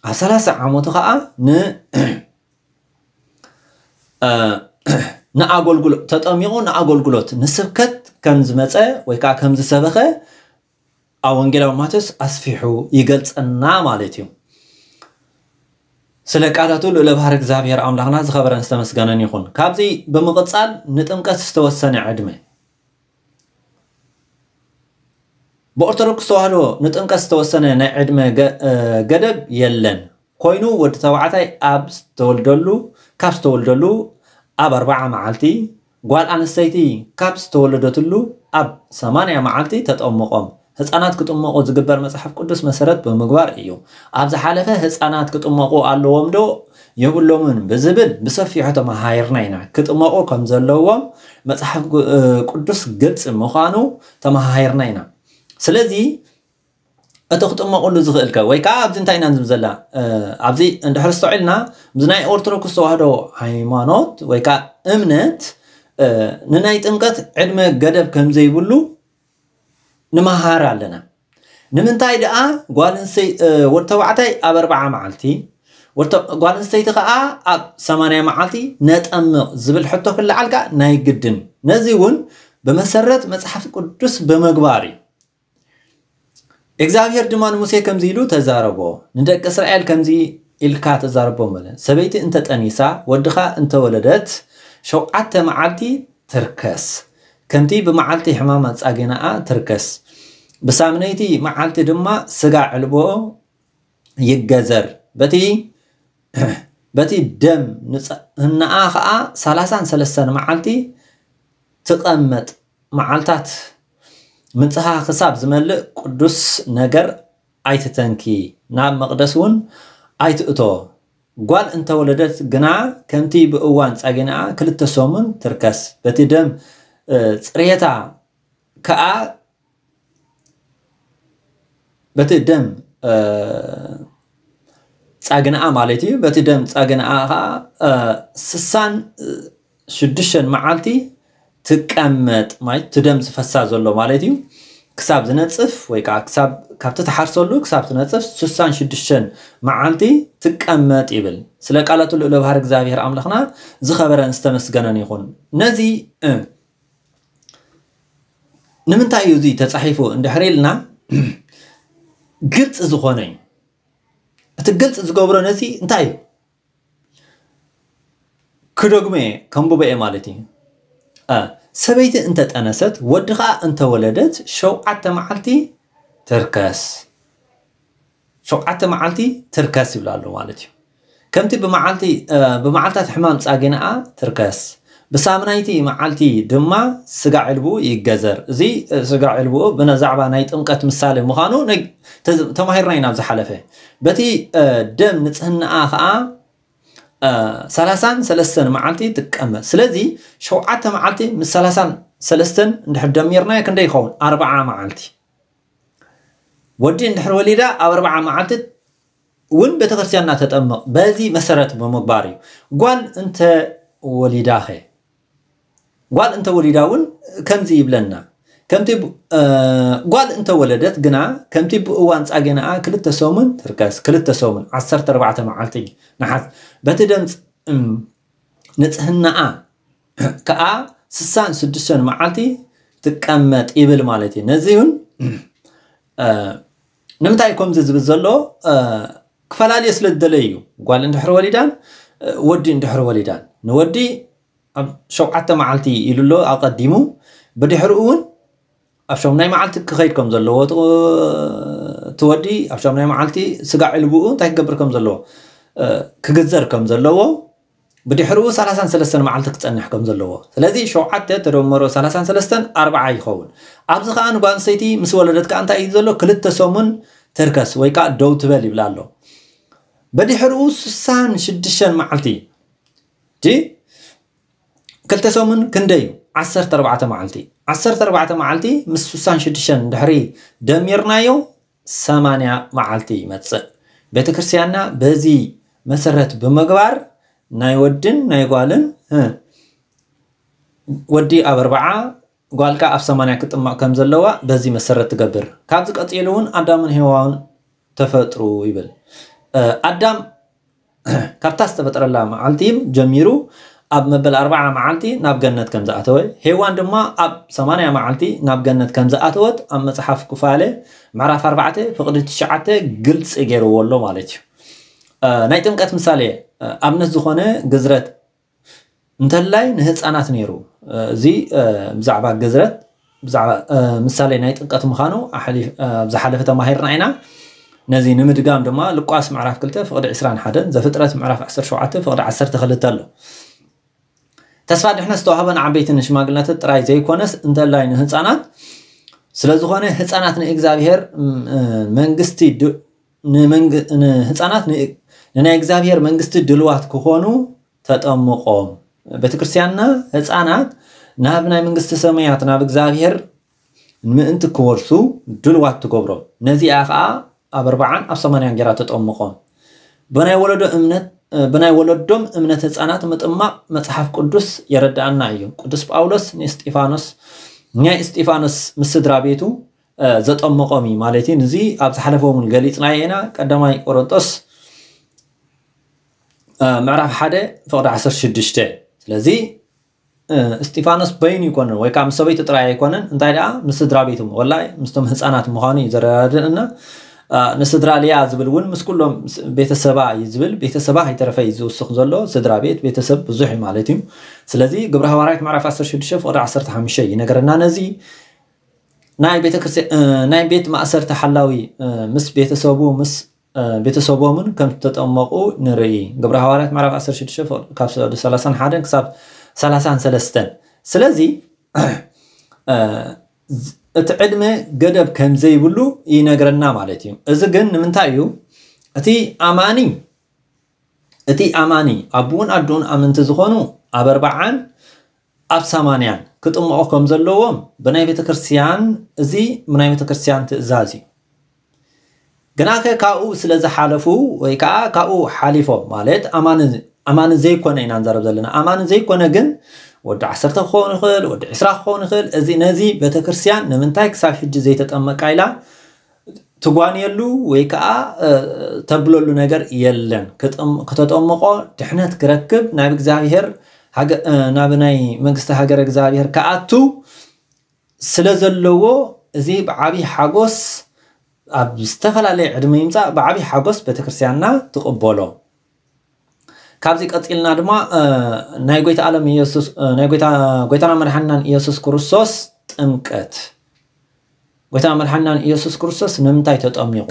ኣብ ሰላሳ ዓመቱ ከዓ ን ንኣገልግሎት ተጠሚቑ ንኣገልግሎት ንስብከት ከም ዝመፀ ወይ ከዓ ከም ዝሰበኸ ኣብ ወንጌላዊ ማቴዎስ ኣስፊሑ ይገልፀና ማለት እዩ። ስለ ቃላቱ ልእለ ባህር እግዚኣብሔር ኣምላኽና ዝኸበረን ዝተመስገነን ይኹን። ካብዚ ብምቕፃል ንጥምቀት ዝተወሰነ ዕድመ ብኦርቶዶክስ ተዋህዶ ንጥምቀት ዝተወሰነ ናይ ዕድመ ገደብ የለን። ኮይኑ ወዲ ተባዕታይ ኣብ ዝተወልደሉ ካብ ዝተወልደሉ ኣብ ኣርባዓ መዓልቲ ጓል ኣንስተይቲ ካብ ዝተወለደትሉ ኣብ ሰማንያ መዓልቲ ተጠምቖም። ህፃናት ክጥመቑ ዝግበር መፅሓፍ ቅዱስ መሰረት ብምግባር እዩ። ኣብ ዝሓለፈ ህፃናት ክጥመቑ ኣለዎም ዶ የብሎምን ብዝብል ብሰፊሑ ተመሃሂርና ኢና። ክጥመቑ ከም ዘለዎም መፅሓፍ ቅዱስ ግልፂ ምዃኑ ተመሃሂርና ኢና። ስለዚ እቲ ክጥመቑሉ ዝኽእልከ ወይ ከዓ ኣብዚ እንታይ ኢና ንዝብ ዘላ ኣብዚ እንድሕር ስተውዒልና ምስ ናይ ኦርቶዶክስ ተዋህዶ ሃይማኖት ወይ ከዓ እምነት ንናይ ጥምቀት ዕድመ ገደብ ከም ዘይብሉ ንመሃር ኣለና። ንምንታይ ደኣ ጓል ኣንስተይ ወዲ ተባዕታይ ኣብ ኣርባዓ መዓልቲ ጓል ኣንስተይቲ ከዓ ኣብ ሰማንያ መዓልቲ ነጠምቕ ዝብል ሕቶ ክለዓል ከዓ ናይ ግድን። ነዚ እውን ብመሰረት መፅሓፍ ቅዱስ ብምግባር እዩ። እግዚኣብሔር ድማ ንሙሴ ከምዚ ኢሉ ተዛረቦ፣ ንደቂ እስራኤል ከምዚ ኢልካ ተዛረቦም በለ። ሰበይቲ እንተጠኒሳ፣ ወድኻ እንተወለደት፣ ሸውዓተ መዓልቲ ትርከስ። ከምቲ ብመዓልቲ ሕማማ ጻጌናኣ ትርከስ። ብሳምነይቲ መዓልቲ ድማ ስጋ ዕልቦ ይገዘር። በቲ በቲ ደም ንጽህናኣ ኸኣ ሰላሳን ሰለስተን መዓልቲ ትቐመጥ። መዓልታት ምንጽሃ ክሳብ ዝመልእ ቅዱስ ነገር ኣይትተንኪ፣ ናብ መቕደስ እውን ኣይትእቶ። ጓል እንተወለደት ግና ከምቲ ብእዋን ጻጌናኣ ክልተ ሰሙን ትርከስ። በቲ ደም፣ እ፣ ጽሬታ ከኣ በቲ ደም፣ እ፣ ጻግንኣ ማለት እዩ። በቲ ደም ጻግንኣ ኸኣ፣ እ፣ ስሳን ሽዱሽተን መዓልቲ ትቀመጥ፣ ማለት እቲ ደም ዝፈሳ ዘሎ ማለት እዩ። ክሳብ ዝነጽፍ ወይ ከዓ ክሳብ፣ ካብቲ ትሓርሰሉ ክሳብ ትነጽፍ ስሳን ሽዱሽተን መዓልቲ ትቀመጥ ይብል። ስለ ቃላቱ ልዑለ ባህሪ እግዚኣብሔር ኣምላኽና ዝኸበረን ዝተመስገነን ይኹን። ነዚ፣ እ፣ ንምንታይ እዩ እዚ ተጻሒፉ እንድሕር ኢልና፣ ግልጺ ዝኾነ እዩ። እቲ ግልጺ ዝገብሮ ነዚ እንታይ እዩ? ክደግሞ እየ፣ ከንብቦ እየ ማለት እዩ። እ፣ ሰበይቲ እንተጠነሰት፣ ወዲ ኸኣ እንተወለደት፣ ሸውዓተ መዓልቲ ትርከስ። ሸውዓተ መዓልቲ ትርከስ ይብል ኣሎ ማለት እዩ። ከምቲ ብመዓልቲ፣ እ፣ ብመዓልታት ሕማም ጻጌናኣ ትርከስ፣ ብሳምናይቲ መዓልቲ ድማ ስጋ ዕልብኡ ይገዘር። እዚ፣ እ፣ ስጋ ዕልብኡ ብዛዕባ ናይ ጥምቀት ምሳሌ ምዃኑ ነግ-፣ ተዝ-፣ ተማሂርና ኢና ኣብ ዝሓለፈ። በቲ፣ እ፣ ደም ንጽህናኣ ኸኣ፣ እ፣ ሰላሳን ሰለስተን መዓልቲ ትቀመጥ። ስለዚ ሸውዓተ መዓልቲ ምስ ሰላሳን ሰለስተን እንድሕር ደሚርናዮ ክንደይ ይኸውን? ኣርብዓ መዓልቲ። ወዲ እንድሕር ወሊዳ ኣብ ኣርብዓ መዓልቲ እውን ቤተክርስትያንና ተጠምቕ። በዚ መሰረት ብምግባር እዩ። ጓል እንተ ወሊዳኸ? ጓል እንተ ወሊዳ እውን ከምዚ ይብለና። ከምቲ ብ-፣ እ፣ ጓል እንተ ወለደት ግና ከምቲ ብእዋን ጻጌናኣ ክልተ ሰሙን ትርከስ። ክልተ ሰሙን፣ ዓሰርተ ኣርባዕተ መዓልቲ ንሓስ። በቲ ደም ጽ-፣ እም፣ ንጽህናኣ ከኣ ስሳን ሽዱሽተን መዓልቲ ትቀመጥ ይብል ማለት እዩ። ነዚ እውን፣ እ፣ ንምንታይ ከምዚ ዝብል ዘሎ፣ እ፣ ክፈላለዮ ስለ ዝደለየ እዩ። ጓል እንድሕር ወሊዳን፣ እ፣ ወዲ እንድሕር ወሊዳን፣ ንወዲ ኣብ ሸውዓተ መዓልቲ ኢሉ ኣሎ ኣቐዲሙ፣ ብድሕሪኡ እውን ኣብ ሸምናይ መዓልቲ ክኸይድ ከም ዘለዎ፣ እቲ፣ እቲ ወዲ ኣብ ሸምናይ መዓልቲ ስጋ ዕልብኡ እንታይ ክገብር ከም ዘለዎ፣ እ፣ ክግዘር ከም ዘለዎ፣ ብድሕሪኡ ሰላሳን ሰለስተን መዓልቲ ክጸንሕ ከም ዘለዎ። ስለዚ ሸውዓተ ተደመሮ ሰላሳን ሰለስተን ኣርብዓ ይኸውን። ኣብዚ ኸኣ ንጓል ኣንስተይቲ ምስ ወለደት ከኣ እንታይ እዩ ዘሎ? ክልተ ሰሙን ትርከስ ወይ ከኣ ደው ትበል ይብላ ኣሎ። ብድሕሪኡ ስሳን ሽዱሽተን መዓልቲ፣ ጂ፣ ክልተ ሰሙን ክንደይ እዩ? ዓሰርተ ኣርባዕተ መዓልቲ። ዓሰርተ ኣርባዕተ መዓልቲ ምስ ስሳን ሽዱሽተን ድሕሪ ደሚርናዮ፣ ሰማንያ መዓልቲ ይመጽእ። ቤተ ክርስቲያንና በዚ መሰረት ብምግባር ናይ ወድን ናይ ጓልን፣ እ፣ ወዲ ኣብ ኣርብዓ፣ ጓል ከኣ ኣብ ሰማንያ ክጥመቕ ከም ዘለዋ በዚ መሰረት ትገብር። ካብዚ ቀጺሉ እውን ኣዳምን ሄዋን ተፈጥሩ ይብል። እ፣ ኣዳም ካብታ ዝተፈጥረላ መዓልቲ ጀሚሩ ኣብ መበል ኣርብዓ መዓልቲ ናብ ገነት ከም ዝኣተወ፣ ሄዋን ድማ ኣብ ሰማንያ መዓልቲ ናብ ገነት ከም ዝኣተወት ኣብ መጽሓፍ ኩፋለ ምዕራፍ ኣርባዕተ ፍቕዲ ትሽዓተ ግልጺ ገይርዎ ኣሎ ማለት እዩ። እ፣ ናይ ጥምቀት ምሳሌ፣ እ፣ ኣብነት ዝኾነ ግዝረት እንተላይ ንህፃናት ነይሩ። እ፣ እዚ፣ እ፣ ብዛዕባ ግዝረት፣ ብዛዕባ፣ እ፣ ምሳሌ ናይ ጥምቀት ምዃኑ ኣሕሊ-፣ እ፣ ኣብ ዝሓለፈ ተማሂርና ኢና። ነዚ ንምድጋም ድማ ሉቃስ ምዕራፍ ክልተ ፍቕዲ ዕስራን ሓደን፣ ዘፍጥረት ምዕራፍ ዓሰርተ ሸውዓተ ፍቕዲ ዓሰርተ ክልተ ኣሎ። ተስፋ ድሕነት ዝተዋህበ ንዓበይቲ ንሽማግለታት ጥራይ ዘይኮነስ እንተላይ ንህፃናት ስለ ዝኾነ፣ ህፃናት ንእግዚኣብሔር፣ ም-፣ እ፣ መንግስቲ ድ-፣ ንመንግ-፣ ንህፃናት ን-፣ ንናይ እግዚኣብሔር መንግስቲ ድልዋት ክኾኑ ተጠምቖም። ቤተክርስትያንና ህፃናት ናብ ናይ መንግስቲ ሰማያት፣ ናብ እግዚኣብሔር ምእንቲ ክወርሱ ድልዋት ትገብሮም። ነዚኣ ኸዓ ኣብ ኣርባዓን ኣብ ሰማንያን ጌራ ተጠምቖም። ብናይ ወለዶ እምነት፣ ብናይ ወለዶም እምነት ህፃናት ምጥማቕ መጽሓፍ ቅዱስ የረድኣና እዩ። ቅዱስ ጳውሎስ ንእስጢፋኖስ፣ ናይ እስጢፋኖስ ምስ ስድራ ቤቱ፣ እ፣ ዘጠምቖም እዩ ማለት እዩ። እዚ ኣብ ዝሓለፈ እውን ገሊጽናዮ ኢና። ቀዳማይ ቆሮንጦስ፣ እ፣ ምዕራፍ ሓደ ፍቕዲ ዓሰርተ ሽዱሽተ። ስለዚ፣ እ፣ እስጢፋኖስ በይኑ ኣይኮነን ወይ ከዓ ምስ ሰበይቱ ጥራይ ኣይኮነን፣ እንታይ ደኣ ምስ ስድራ ቤቱ፣ ወላ ምስቶም ህፃናት ምዃኑ እዩ ዘረዳድእና። ንስድራ ሊያ ዝብል እውን ምስ ኩሎም ቤተሰባ እዩ ዝብል። ቤተሰባ ከይተረፈ እዩ ዝውስኽ ዘሎ። ስድራ ቤት፣ ቤተሰብ ብዙሕ እዩ ማለት እዩ። ስለዚ ግብረ ሃዋርያት ምዕራፍ ዓሰርተ ሽዱሽተ ፍቕዲ ዓሰርተ ሓሙሽተ ይነገረና። ነዚ ናይ ቤተክርስትያን ናይ ቤት ማእሰርቲ ሓላዊ ምስ ቤተሰቡ ምስ ቤተሰቦምን ከም ዝተጠመቑ ንርኢ። ግብረ ሃዋርያት ምዕራፍ ዓሰርተ ሽዱሽተ ካብ ሰላሳን ሓደን ክሳብ ሰላሳን ሰለስተን። ስለዚ እቲ ዕድመ ገደብ ከም ዘይብሉ ይነግረና ማለት እዩ። እዚ ግን ንምንታይ እዩ? እቲ ኣማኒ እቲ ኣማኒ ኣቡን ኣዱን ኣመንቲ ዝኾኑ ኣብ ኣርባዓን ኣብ ሰማንያን ክጥምቑ ከም ዘለዎም ብናይ ቤተ ክርስቲያን፣ እዚ ብናይ ቤተ ክርስቲያን ትእዛዝ እዩ። ግናከ ካብኡ ስለ ዝሓለፉ ወይ ከዓ ካብኡ ሓሊፎም ማለት ኣማኒ ኣማኒ ዘይኮነ ኢና ንዛረብ ዘለና። ኣማኒ ዘይኮነ ግን ወዲ ዓሰርተ ክኸውን ይኽእል፣ ወዲ ዕስራ ክኸውን ይኽእል። እዚ ነዚ ቤተ ክርስቲያን ንምንታይ ክሳብ ሕጂ ዘይተጠመቃ ኢላ ትጓንየሉ ወይ ከዓ ተብለሉ ነገር የለን። ክተጠምቆ ድሕነት ክረክብ ናብ እግዚኣብሔር ናብ ናይ መንግስቲ ሃገር እግዚኣብሔር ክኣቱ ስለ ዘለዎ እዚ ብዓብዪ ሓጎስ ኣብ ዝተፈላለየ ዕድመ ይምፃእ ብዓብዪ ሓጎስ ቤተክርስትያንና ትቕበሎ። ካብዚ ቀፂልና ድማ ናይ ጎይታ ዓለም ኢየሱስ ናይ ጎይታ ጎይታና መድሓንናን ኢየሱስ ክርስቶስ ጥምቀት ጎይታ መድሓንናን ኢየሱስ ክርስቶስ ንምንታይ ተጠሚቑ?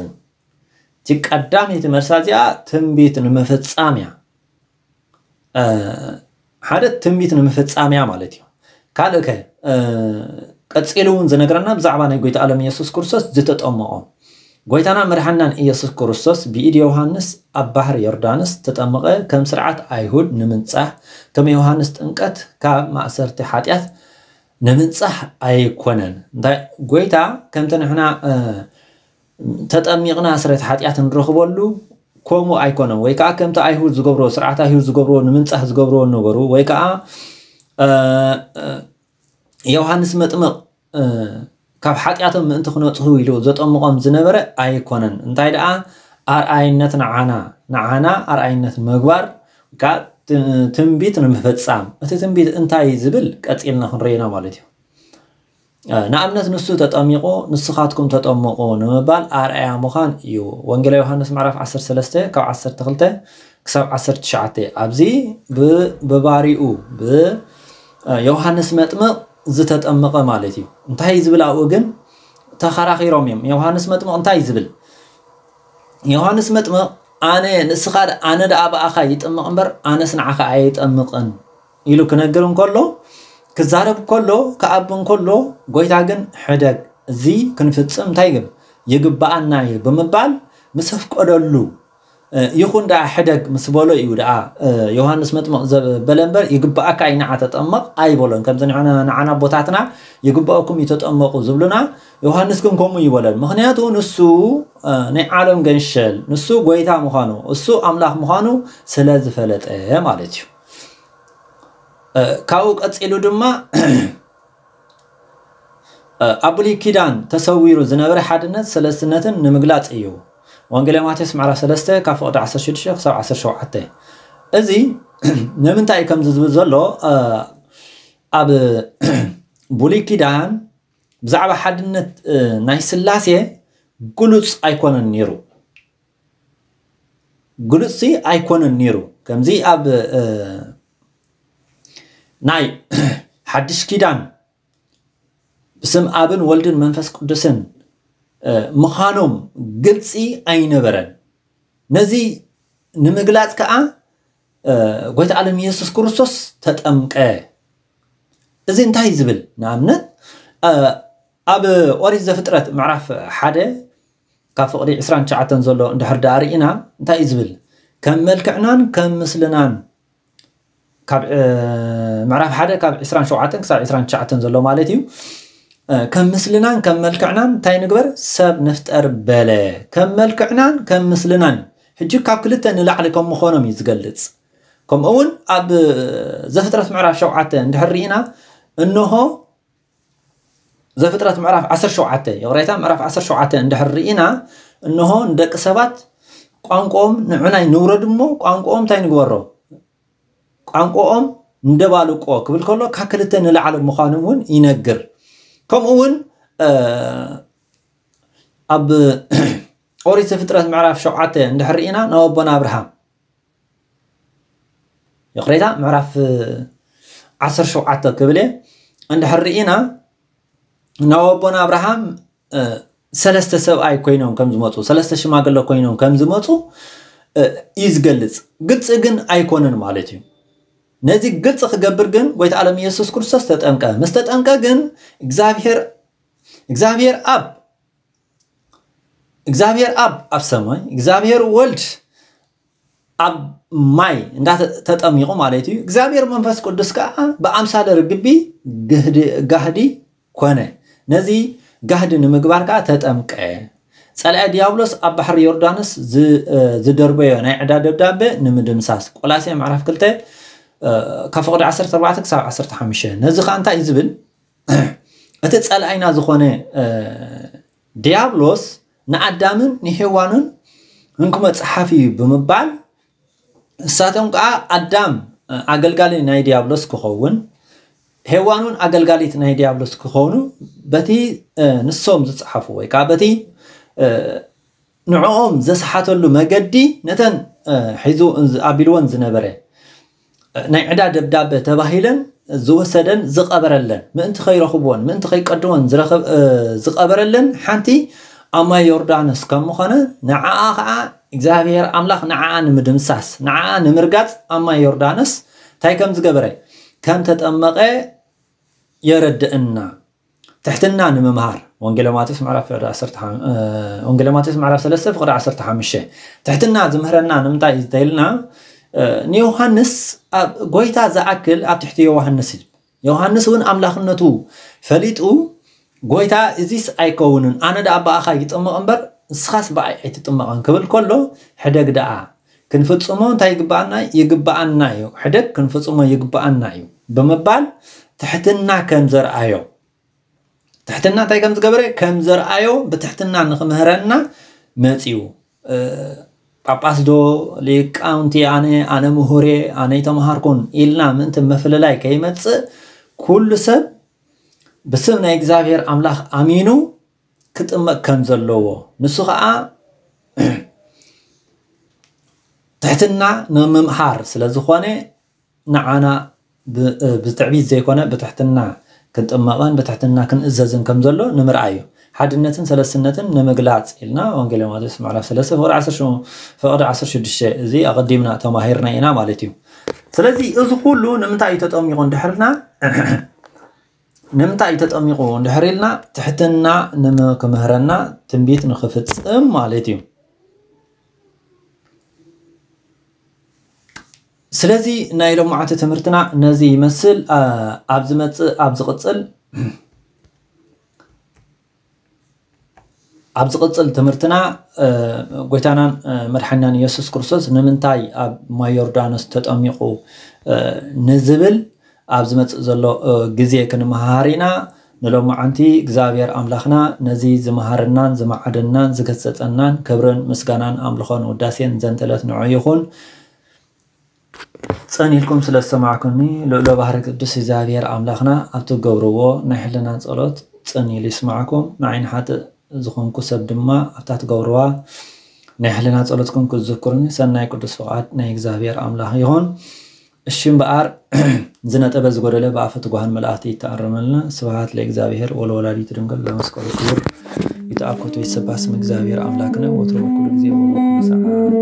እቲ ቀዳመይቲ መልሳ እዚኣ ትንቢት ንምፍጻም እያ። ሓደ ትንቢት ንምፍጻም እያ ማለት እዩ። ካልእ ከ ቀጺሉ እውን ዝነግረና ብዛዕባ ናይ ጎይታ ዓለም ኢየሱስ ክርስቶስ ዝተጠመቖ ጎይታና መድሓንናን ኢየሱስ ክርስቶስ ብኢድ ዮሃንስ ኣብ ባሕሪ ዮርዳኖስ ተጠመቐ። ከም ስርዓት ኣይሁድ ንምንጻህ፣ ከም ዮሃንስ ጥምቀት ካብ ማእሰርቲ ሓጢኣት ንምንጻህ ኣይኮነን። እንታይ ጎይታ ከምቲ ንሕና ተጠሚቕና ስርየት ሓጢኣት ንረኽበሉ ከምኡ ኣይኮነን። ወይ ከዓ ከምቲ ኣይሁድ ዝገብርዎ ስርዓት ኣይሁድ ዝገብርዎ ንምንጻህ ዝገብርዎ ነበሩ ወይ ከዓ ዮሃንስ መጥምቕ ካብ ሓጢኣቶም ምእንቲ ክነፅሁ ኢሉ ዘጠምቖም ዝነበረ ኣይኮነን። እንታይ ደኣ ኣርኣይነት ንዓና ንዓና ኣርኣይነት ምግባር ትንቢት ንምፍፃም እቲ ትንቢት እንታይ ዝብል ቀፂልና ክንረይና ማለት እዩ። ንኣብነት ንሱ ተጠሚቑ ንስኻትኩም ተጠምቑ ንምባል ኣርኣያ ምዃን እዩ። ወንጌላ ዮሃንስ ምዕራፍ ዓሰርተ ሰለስተ ካብ ዓሰርተ ክልተ ክሳብ ዓሰርተ ትሽዓተ ኣብዚ ብባሪኡ ብዮሃንስ መጥምቕ ዝተጠመቐ ማለት እዩ። እንታይ ዝብል ኣብኡ ግን ተኸራኺሮም እዮም። ዮሃንስ መጥምቕ እንታይ ዝብል? ዮሃንስ መጥምቕ ኣነ ንስኻ ኣነ ደኣ ብኣኻ ይጥምቕ እምበር ኣነስ ንዓኻ ኣይጠምቕን ኢሉ ክነግር እንከሎ ክዛረብ ከሎ ክኣቢ እንከሎ ጎይታ ግን ሕደግ እዚ ክንፍጽም እንታይ ግን ይግብኣና እዩ ብምባል ምስ ኣፍቀደሉ ይኹን ደኣ ሕደግ ምስ በሎ እዩ ደኣ ዮሃንስ መጥምቕ ዘበለ እምበር ይግብኣካ እዩ ንዓ ተጠመቕ ኣይበሎን። ከምዚ ንዓና ኣቦታትና ይግብኣኩም እዩ ተጠመቑ ዝብሉና ዮሃንስ ግን ከምኡ ይበለን። ምኽንያቱ ንሱ ናይ ዓለም ገንሸል ንሱ ጎይታ ምዃኑ እሱ ኣምላኽ ምዃኑ ስለ ዝፈለጠ ማለት እዩ። ካብኡ ቀፂሉ ድማ ኣብ ብሉይ ኪዳን ተሰዊሩ ዝነበረ ሓድነት ሰለስትነትን ንምግላፅ እዩ። ወንጌል ማቴዎስ ምዕራፍ ሰለስተ ካብ ፍቕዲ ዓሰርተ ሽዱሽተ ክሳብ ዓሰርተ ሸውዓተ። እዚ ንምንታይ እዩ ከምዚ ዝብል ዘሎ? ኣብ ብሉይ ኪዳን ብዛዕባ ሓድነት ናይ ስላሴ ግሉፅ ኣይኮነን ነይሩ። ግሉፅሲ ኣይኮነን ነይሩ። ከምዚ ኣብ ናይ ሓድሽ ኪዳን ብስም ኣብን ወልድን መንፈስ ቅዱስን ምዃኖም ግልፂ ኣይነበረን። ነዚ ንምግላፅ ከዓ ጎይታ ዓለም ኢየሱስ ክርስቶስ ተጠምቀ። እዚ እንታይ ዝብል ንኣብነት ኣብ ኦሪት ዘፍጥረት ምዕራፍ ሓደ ካብ ፍቕዲ ዕስራን ትሽዓተን ዘሎ እንድሕር ደኣ ርኢና እንታይ እዩ ዝብል? ከም መልክዕናን ከም ምስልናን ካብ ምዕራፍ ሓደ ካብ ዕስራን ሸውዓተን ክሳብ ዕስራን ትሽዓተን ዘሎ ማለት እዩ። ከም ምስልናን ከም መልክዕናን እንታይ ንግበር? ሰብ ንፍጠር በለ። ከም መልክዕናን ከም ምስልናን ሕጂ ካብ ክልተ ንላዕሊ ከም ምኾኖም እዩ ዝገልፅ። ከምኡ እውን ኣብ ዘፍጥረት ምዕራፍ ሸውዓተ እንድሕር ርኢና እንሆ ዘፍጥረት ምዕራፍ ዓሰርተ ሸውዓተ ይቕሬታ ምዕራፍ ዓሰርተ ሸውዓተ እንድሕር ርኢና እንሆ ንደቂ ሰባት ቋንቋኦም ንዕናይ ንውረድ እሞ ቋንቋኦም እንታይ ንግበሮ? ቋንቋኦም እንደባልቆ ክብል ከሎ ካብ ክልተ ንላዕሊ ምዃኑ እውን ይነግር። ከምኡ እውን ኣብ ኦሪት ዘፍጥረት ምዕራፍ ሸውዓተ እንድሕር ርኢና ናብ ኣቦና ኣብርሃም፣ ይቕሬታ፣ ምዕራፍ ዓሰርተ ሸውዓተ ክብል እየ። እንድሕር ርኢና ናብ ኣቦና ኣብርሃም ሰለስተ ሰብኣይ ኮይኖም ከም ዝመፁ፣ ሰለስተ ሽማግለ ኮይኖም ከም ዝመፁ እዩ ዝገልፅ። ግልፂ ግን ኣይኮነን ማለት እዩ። ነዚ ግልፂ ክገብር ግን ጎይታ ዓለም ኢየሱስ ክርስቶስ ተጠምቀ። ምስ ተጠምቀ ግን እግዚኣብሔር እግዚኣብሔር ኣብ እግዚኣብሔር ኣብ ኣብ ሰማይ፣ እግዚኣብሔር ወልድ ኣብ ማይ እንዳተጠሚቑ ማለት እዩ። እግዚኣብሔር መንፈስ ቅዱስ ከዓ ብኣምሳለ ርግቢ ጋህዲ ኮነ። ነዚ ጋህዲ ንምግባር ከዓ ተጠምቀ። ፀላኢ ዲያብሎስ ኣብ ባሕሪ ዮርዳኖስ ዝደርበዮ ናይ ዕዳ ደብዳቤ ንምድምሳስ። ቆላሴ ምዕራፍ ክልተ ካብ ፍቕዲ ዓሰርተ ኣርባዕተ ክሳብ ዓሰርተ ሓሙሽተ። ነዚ ከዓ እንታይ እዩ ዝብል? እቲ ጸላኢና ዝኾነ ዲያብሎስ ንኣዳምን ንሄዋንን እንኩ መጽሓፍ እዩ ብምባል፣ እሳቶም ከዓ ኣዳም ኣገልጋሊ ናይ ዲያብሎስ ክኸውን፣ ሄዋን እውን ኣገልጋሊት ናይ ዲያብሎስ ክኾኑ፣ በቲ ንሶም ዝጸሓፉ ወይ ከዓ በቲ ንዕኦም ዘስሓተሉ መገዲ፣ ነተን ሒዙ ኣቢልወን ዝነበረ ናይ ዕዳ ደብዳበ ተባሂለን ዝወሰደን ዝቐበረለን፣ ምእንቲ ከይረኽብወን፣ ምእንቲ ከይቀድወን ዝቐበረለን ሓንቲ ኣብ ማይ ዮርዳኖስ ከም ምኾነ፣ ንዓኣ ኸዓ እግዚኣብሔር ኣምላኽ ንዓኣ ንምድምሳስ፣ ንዓኣ ንምርጋጽ ኣብ ማይ ዮርዳኖስ እንታይ ከም ዝገበረ፣ ከም ተጠመቐ የረድእና። ትሕትና ንምምሃር። ወንጌለ ማቴዎስ ምዕራፍ ፍቕዲ ዓሰርተ ሓ- እ፣ ወንጌለ ማቴዎስ ምዕራፍ ሰለስተ ፍቕዲ ዓሰርተ ሓሙሽተ። ትሕትና ዝምህረና ንምንታይ እዩ እንተኢልና፣ እ፣ ንዮሃንስ ኣብ ጎይታ ዝኣክል ኣብ ትሕቲ ዮሃንስ እዩ። ዮሃንስ እውን ኣምላኽነቱ ፈሊጡ፣ ጎይታ እዚስ ኣይከውንን፣ ኣነ ደኣ ብኣኻ ይጥምቕ እምበር ንስኻስ ብኣይ ኣይትጥመቐን ክብል ከሎ፣ ሕደግ ደኣ ክንፍጽሞ እንታይ ይግብኣና? ይግብኣና እዩ። ሕደግ ክንፍጽሞ ይግብኣና እዩ ብምባል ትሕትና ከም ዘርኣዮ ትሕትና እንታይ ከም ዝገበረ ከም ዘርኣዮ ብትሕትና ንኽምህረና መጺኡ። ጳጳስ ዶ ሊቃውንቲ ኣነ ኣነ ምሁሬ ኣነ ይተምሃርኩን ኢልና ምእንቲ ምፍልላይ ከይመጽእ ኩሉ ሰብ ብስም ናይ እግዚኣብሔር ኣምላኽ ኣሚኑ ክጥመቕ ከም ዘለዎ ንሱ ኸዓ ትሕትና ንምምሃር ስለ ዝኾነ ንዓና ብትዕቢት ዘይኮነ ብትሕትና ክንጥመቐን ብትሕትና ክንእዘዝን ከም ዘሎ ንምርኣይ እዩ። ሓድነትን ሰለስትነትን ንምግላፅ ኢልና ወንጌል ማቴዎስ ምዕራፍ ሰለስተ ፍቕዲ ዓሰርተ ሽዱሽተ እዚ ኣቐዲምና ተማሂርና ኢና ማለት እዩ። ስለዚ እዚ ኩሉ ንምንታይ እዩ ተጠሚቑ እንድሕርና ንምንታይ እዩ ተጠሚቑ እንድሕር ኢልና ትሕትና ንክምህረና ትንቢት ንክፍፅም ማለት እዩ። ስለዚ ናይ ሎማዓቲ ትምህርትና ነዚ ይመስል። ኣብ ዝመፅእ ኣብ ዝቕፅል ኣብ ዝቕፅል ትምህርትና ጎይታናን መድሓኒናን ኢየሱስ ክርስቶስ ንምንታይ ኣብ ማይ ዮርዳኖስ ተጠሚቑ ንዝብል ኣብ ዝመፅእ ዘሎ ግዜ ክንመሃር ኢና። ንሎማዓንቲ እግዚኣብሔር ኣምላኽና ነዚ ዝመሃረናን ዝመዓደናን ዝገሰፀናን ክብርን ምስጋናን ኣምልኾን ውዳሴን ዘንተለት ንዑ ይኹን። ጸኒልኩም ስለ ዝሰማዕኩኒ ልኡለ ባህሪ ቅዱስ እግዚኣብሔር ኣምላኽና ኣብ ትገብርዎ ናይ ሕልና ጸሎት ጸኒሉ ይስማዕኩም። ንዓይ ንሓጥእ ዝኾንኩ ሰብ ድማ ኣብታ ትገብርዋ ናይ ሕልና ጸሎትኩም ክትዝክሩኒ ሰናይ ቅዱስ ፍቓድ ናይ እግዚኣብሔር ኣምላኽ ይኹን። እሺ እምበኣር ዝነጠበ ዝጎደለ ብኣፈ ትጓሃን መላእኽቲ ይተኣረመልና። ስብሐት ለእግዚኣብሔር ወለወላዲቱ ድንግል ለመስቀሉ ክቡር። ይትአኮቱ ይሰባህ ስም እግዚአብሔር አምላክነ ወትሩ በኩሉ ጊዜ ወበኩሉ ሰዓት።